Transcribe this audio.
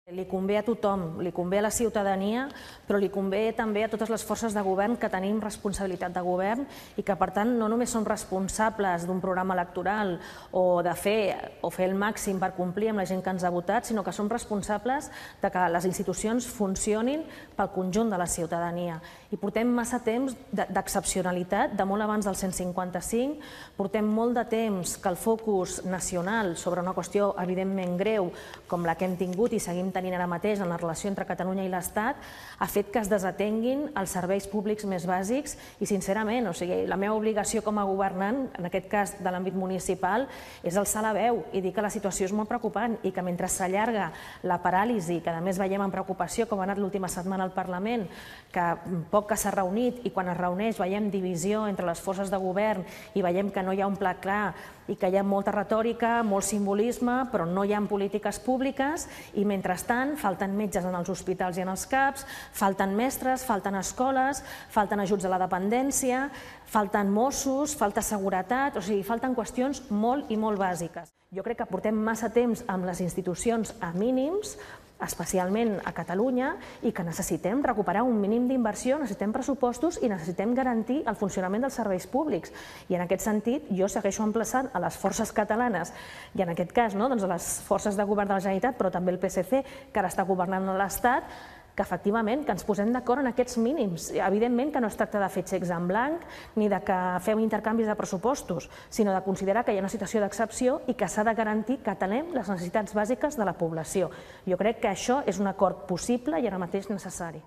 Li convé a tothom, li convé a la ciutadania, però li convé també a totes les forces de govern que tenim responsabilitat de govern i que, per tant, no només som responsables d'un programa electoral o de fer el màxim per complir amb la gent que ens ha votat, sinó que som responsables de que les institucions funcionin pel conjunt de la ciutadania. I portem massa temps d'excepcionalitat, de molt abans del 155, portem molt de temps que el focus nacional sobre una qüestió evidentment greu com la que hem tingut i seguim tenint ara mateix en la relació entre Catalunya i l'Estat ha fet que es desatenguin els serveis públics més bàsics i, sincerament, la meva obligació com a governant, en aquest cas de l'àmbit municipal, és alçar la veu i dir que la situació és molt preocupant i que mentre s'allarga la paràlisi, que a més veiem amb preocupació com ha anat l'última setmana al Parlament, que poc que s'ha reunit i quan es reuneix veiem divisió entre les forces de govern i veiem que no hi ha un pla clar i que hi ha molta retòrica, molt simbolisme, però no hi ha polítiques públiques i, mentrestant, falten metges en els hospitals i en els CAPs, falten mestres, falten escoles, falten ajuts a la dependència, falten Mossos, falta seguretat, o sigui, falten qüestions molt i molt bàsiques. Jo crec que portem massa temps amb les institucions a mínims, especialment a Catalunya, i que necessitem recuperar un mínim d'inversió, necessitem pressupostos i necessitem garantir el funcionament dels serveis públics. I en aquest sentit jo segueixo emplaçant a les forces catalanes i en aquest cas a les forces de govern de la Generalitat, però també el PSC, que ara està governant a l'Estat, que efectivament ens posem d'acord en aquests mínims. Evidentment que no es tracta de fer xecs en blanc ni de que fem intercanvis de pressupostos, sinó de considerar que hi ha una situació d'excepció i que s'ha de garantir que atenem les necessitats bàsiques de la població. Jo crec que això és un acord possible i ara mateix necessari.